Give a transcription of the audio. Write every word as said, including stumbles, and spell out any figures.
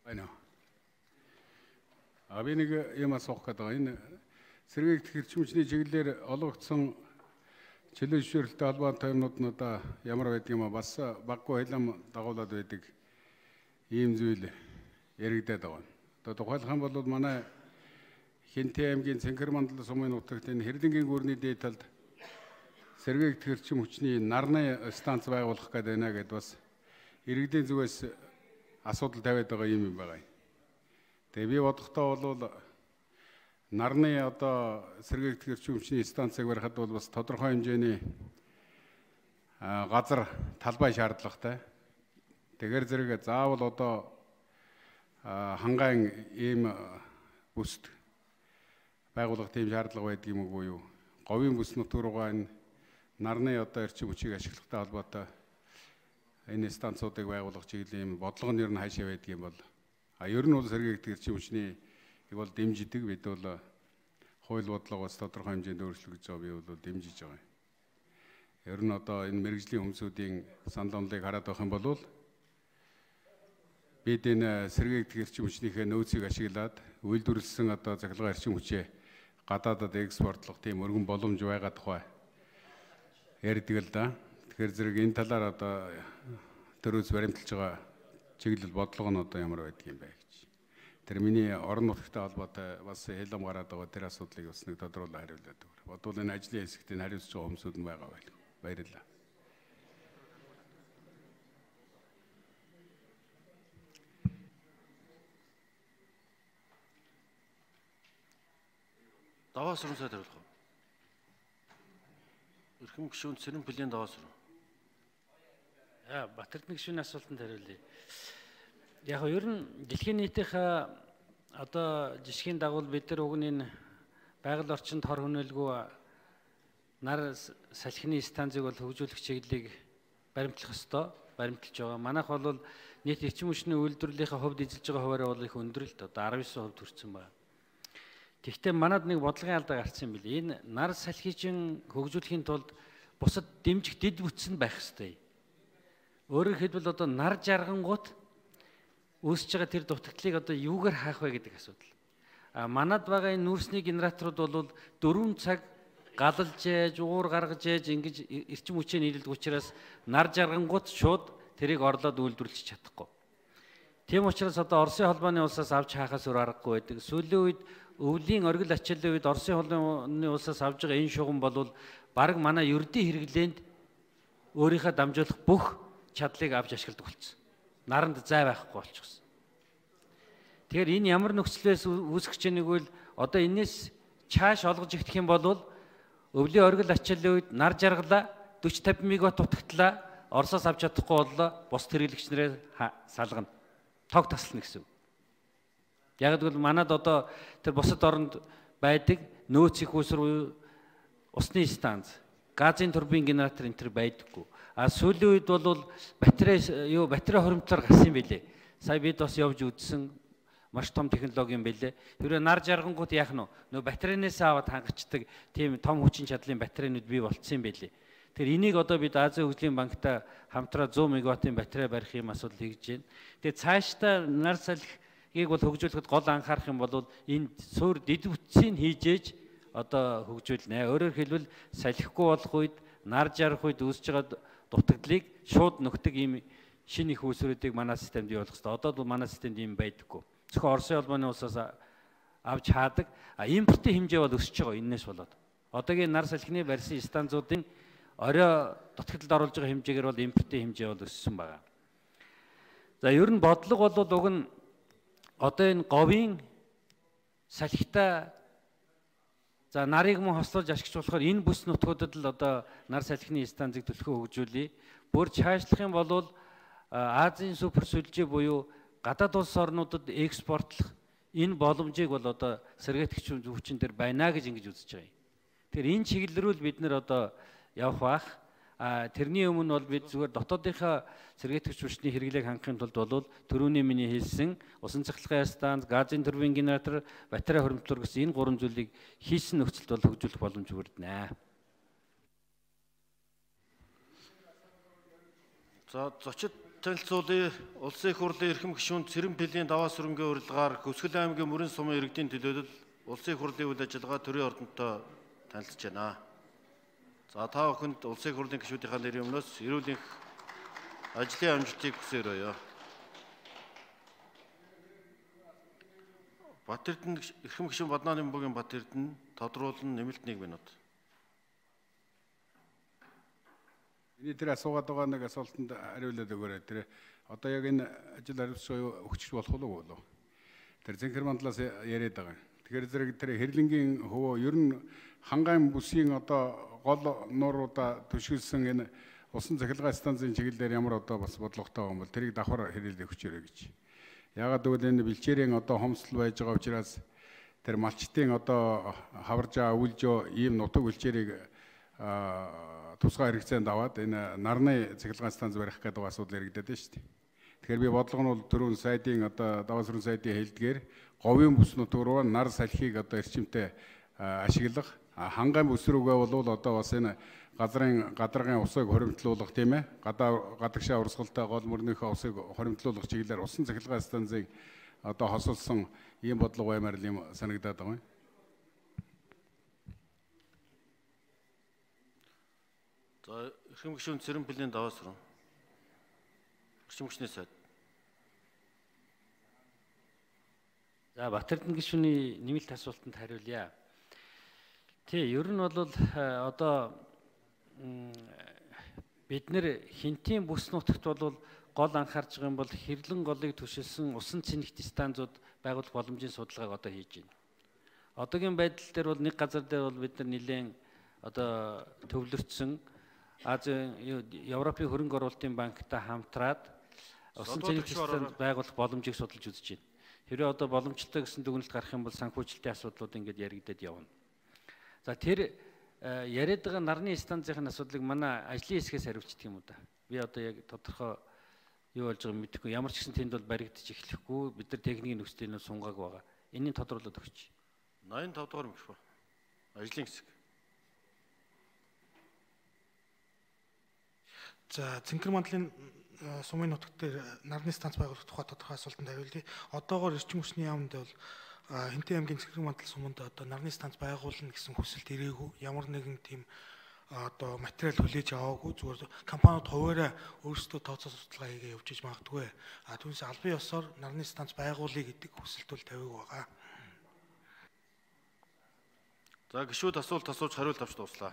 Байна. А би нэг юм асуух гэдэг байна. Энэ сэргээгдэх эрчим хүчний чиглэлээр олгогдсон чөлөө зөвшөөрөлтөй холбоотой юмнууд нь одоо ямар байдаг юм а бас баггүй хилам дагуулад байдаг ийм зүйл яригдаад байгаа. Одоо тухайлах юм бол манай Хинтээ аймгийн Цэнхэр мандал сумын нутагт энэ Хэрлэнгийн гүрний дээд талд сэргээгдэх эрчим хүчний нарны станц байгуулах гэдэг байна гэдээ бас иргэдийн зүгээс асуудал тавиад байгаа юм байна. Тэгээ би бодохдоо бол нарны одоо сэргээгдэх эрчим хүчний станцыг барихад бол бас тодорхой хэмжээний газар талбай шаардлагатай. Тэгэхээр зэрэг заавал одоо хангаан ийм бүст байгуулах тийм шаардлага байдаг юм уу юу? Говийн бүс нутг руугаа энэ нарны одоо эрчим хүчийг ашиглахтай холбоотой энэ станцуудыг байгуулах чиглэлийн бодлого нь ер нь хаашаа байдаг юм бол а ер нь бол сэргээгдэх эрчим хүчний ийг бол дэмждэг бид бол хууль бодлогоос тодорхой хэмжээнд өөрчлөгдөж байгаа би бол дэмжиж байгаа. Ер нь одоо энэ мэрэгжлийн хүмүүсийн санал онолыг хараад байх юм бол бид энэ сэргээгдэх эрчим хүчнийхээ нөөцийг ашиглаад үйлдвэрлэсэн одоо захиргаа эрчим хүчээ гадаадад экспортлох тийм өргөн боломж байгаа тухай ярьдаг л да. Тэгэхээр зэрэг энэ талаар одоо төрөөс баримталж байгаа чиглэл бодлого нь одоо ямар байдаг юм бэ гэж. Тэр миний орон нутгтай холбоотой бас хэлэм гараад байгаа тэр асуудлыг бас нэг тодруулан хариулаад өгөр. Бодвол энэ ажлын хэсэгт энэ хариуцж байгаа хүмүүсүүд нь байгаа байл. Баярлалаа. Даваа сүрэн сайд хариулах уу? Эрхэм гишүүн Цэрэн Пүлийн даваа сүрэн. Аа, Батэрдэн гишүүний асуултанд хариулъя. Яг нь ер нь дэлхийн нийтийнхээ одоо жишгийн дагуу бид нар уг нь энэ байгаль орчинд хор хөнөөлгүй нар салхины станцыг бол хөгжүүлэх чиглэлийг баримтлах ёстой, баримталж байгаа. Манайх бол нийт эрчим хүчний үйлдвэрлэлийнхээ хувьд эзэлж байгаа хуваараа бол их өндөр л одоо арван девять хувь хүрсэн байна. Тэгэхдээ манад нэг бодлогын алдаа гарсан юм билээ. Энэ нар салхичин хөгжүүлэхийн тулд бусад дэмжих дэд бүтц нь байх ёстой. Өөрөөр хэлбэл одоо нар жаргангууд үүсэж байгаа тэр дутагдлыг одоо юугаар хаах вэ гэдэг асуудал. А манад байгаа энэ нүүрсний генераторууд бол дөрвөн цаг галалж ээж, уур гаргаж ээж ингэж эрчим хүчээ нийлүүлдэг учраас нар жаргангууд шууд тэрийг орлоод үйлдвэрлэж чадахгүй. Тийм учраас одоо Оросын холбооны улсаас авч хаахаас өөр аргагүй байдаг. Сүүлийн үед өвлийн оргил ачааллын үед Оросын холбооны улсаас авж байгаа энэ шугам бол бараг манай ердийн хэрэглээнд өөрийнхөө дамжуулах бүх чадлыг авч ашигладаг болсон. Наранд зай байхгүй болчихсон. Тэгэхээр энэ ямар нөхцлөөс үүсгэж байгааг бол одоо энэс чааш олгож ихтэх юм бол өвлийн оргил ачааллын үед нар жаргалаа forty fifty мегаватт утагтлаа Оросоос авч чадахгүй боллоо бус хэрэглэгч нарыг салгана. Тог таслана гэсэн. Яг л манад одоо тэр бусад оронд байдаг нөөц их уср усны станц, газын турбин генератор энэ төр байдаггүй. А сүүлийн үед бол батарей юу батарей хоримтлоор гарсан байлээ. Сая бид бас явж үзсэн маш том технологи юм байлээ. Хэрвээ нар жаргангууд яах нь нөө батарейнээс аваад хангацдаг тийм том хүчин чадлын батарейнууд бий болцсон юм байлээ. Тэр энийг одоо бид Азийн хөгжлийн банктай хамтраа one hundred мегаваттын батарей барих юм асуудал хийж байна. Тэгээ цаашдаа нар салхийг бол хөгжүүлэхэд гол анхаарах юм бол энэ суур дэд бүтцийг хийж ээж одоо хөгжүүлнэ. Өөрөөр хэлбэл салхихгүй болох үед нар жарах үед үүсэж байгаа дутагдлыг шууд нөхдөг ийм шинэ их үүсвэрүүдийг манай системд явуулах хэрэгтэй. Одоо бол манай системд ийм байдаггүй. Зөвхөн Оросын холбооны улсаас авч хаадаг. А импортын хэмжээ бол өсөж байгаа энэс болоод. Одоогийн нар салхины барьсан станцуудын орой дутагдлалд оруулж байгаа хэмжээгээр бол импортын хэмжээ бол өссөн байна. За ер нь бодлого бол уг нь одоо энэ говийн салхитай за нарыг мөн хослуулж ашиглах болохоор энэ бүс нутгуудад л одоо нар салхины станцыг төлхөө хөгжүүлье. Бүр цаашлах юм бол Азийн супер сүлжээ буюу гадаад улс орнуудад экспортлох энэ боломжийг бол одоо сэргээгдэх хүчин дээр байна гэж ингэж үзэж байгаа юм. Тэгэхээр энэ чиглэл рүү бид нэр одоо явах бах. А тэрний өмнө бол бид зүгээр дотоодынхаа сэргээгдэх хүчний хэрэглээг хангахын тулд бол төрөүний миний хэлсэн усан цахилгаан станц, газын турбин генератор, батарей хоримтлуур гэсэн энэ гурван зүйлийг хийсэн нөхцөлд бол хөгжүүлэх боломж бүрдэнэ. За зочид танилцуулъя. Улсын их хурлын эрхэм гишүүн Цэрэн Пилийн даваа сүрэнгийн урилгаар Хөсгөл аймгийн Мөрөн сумын иргэдийн төлөөлөл улсын их хурлын үйл ажиллагаа төрийн ордонтой танилцж байна. За та бүхэнд улсын их хурлын гишүүдийнхаа нэрийн өмнөөс эрүүл энх ажлын амжилтыг хүсээрөөё. Бат Эрдэнэ эрхэм гишүүн Баднааны Бөмбөгийн Бат Эрдэнэ тодруулан нэмэлт нэг минут. Эний тэр асуугаад байгаа нэг асуултанд хариулаад өгөөрэй. Тэр одоо яг энэ ажил хариуцлага өгчих болох уу болов? Тэр Зэнхэр мандлаас яриад байгаа. Тэгэхээр зэрэг тэр хэрлэнгийн хөвөө ер нь хангаан бүсийн одоо гол нууруудаа түшгэлсэн энэ усан цахилгаан станцын чиглэлээр ямар одоо бас бодлоготой байгаа юм бол тэрийг давхар хэлэлд өгчөөрэй гэж. Яагаад гэвэл энэ бэлчээрийн одоо хомсдол байж байгаа учраас тэр малчтын одоо хаваржаа өвлжөө ийм нутаг бэлчээрийг тусгай хэрэгцээнд аваад энэ нарны цахилгаан станц барих гэдэг асуудал яригдаад байна шүү дээ. Тэгэхээр би бодлого нь бол түрүүн сайдын одоо даваа сүрэн сайдын хэлдгээр говийн бүс нутаг руу нар салхийг одоо эрчимтэй ашиглах, хангаан бүс рүүгээ бол одоо бас энэ газрын гадаргын усыг хоримтлуулах тийм ээ. Гадаа гадагшаа урсгалтай гол мөрнийхөө усыг хоримтлуулах чиглэлээр усан цахилгаан станцыг одоо хосолсон ийм бодлого баймаар юм санагдаад байгаа юм. За эрхэм гишүүн Цэрэн Пилийн даваа сүрэн. Эрчим хүчний сайд. За Бат Эрдэнэ гишүүний нэмэлт асуултанд хариулъя. Тий, ер нь бол одоо бид нэр хинтийн бүс нутагт бол гол анхаарч байгаа юм бол хэрлэн голыг түшилсэн усан цэнэгт станцууд байгуулах боломжийн судалгааг одоо хийж байна. Одоогийн байдал дээр бол нэг газар дээр бол бид нар нэлээд одоо төвлөрсөн Азийн Европын хөрөнгө оруулалтын банктай хамтраад усан цэнэгт станц байгуулах боломжийг судалж үзэж байна. Хэрвээ одоо боломжтой гэсэн дүгнэлт гарах юм бол санхүүжилтийн асуудлууд ингээд яригдаад явна. За тэр яриад байгаа нарны станцын асуудлыг манай ажлын хэсгээс хариулчих юм уу да. Би одоо яг тодорхой юу болж байгааг мэдэхгүй. Ямар ч гэсэн тэнд бол баригдаж эхлэхгүй. Бид нар техникийн нөхцөлийг нь сунгааг байгаа. Энийг тодруулаад өгч. восемьдесят пять дугаар микрофон. Ажлын хэсэг. За Цэнхэр мандлын сумын нутагт дээр нарны станц байгуулах тухай тодорхой асуултанд хариулъя. Одоогоор эрчим хүчний яамд бол Хинтээ аймгийн Цэнхэр мандал суманд одоо нарны станц байгуулна гэсэн хүсэлт ирээгүй. Ямар нэгэн тийм одоо материал хүлээж аваагүй. Зүгээр компаниуд хуваараа өөрсдөө тооцоо судалгаа хийгээ явуулж иж магадгүй. А түүнээс албан ёсоор нарны станц байгуулъя гэдэг хүсэлт бол тавиаг байгаа. За гишүүд асуулт асууж хариулт авч дууслаа.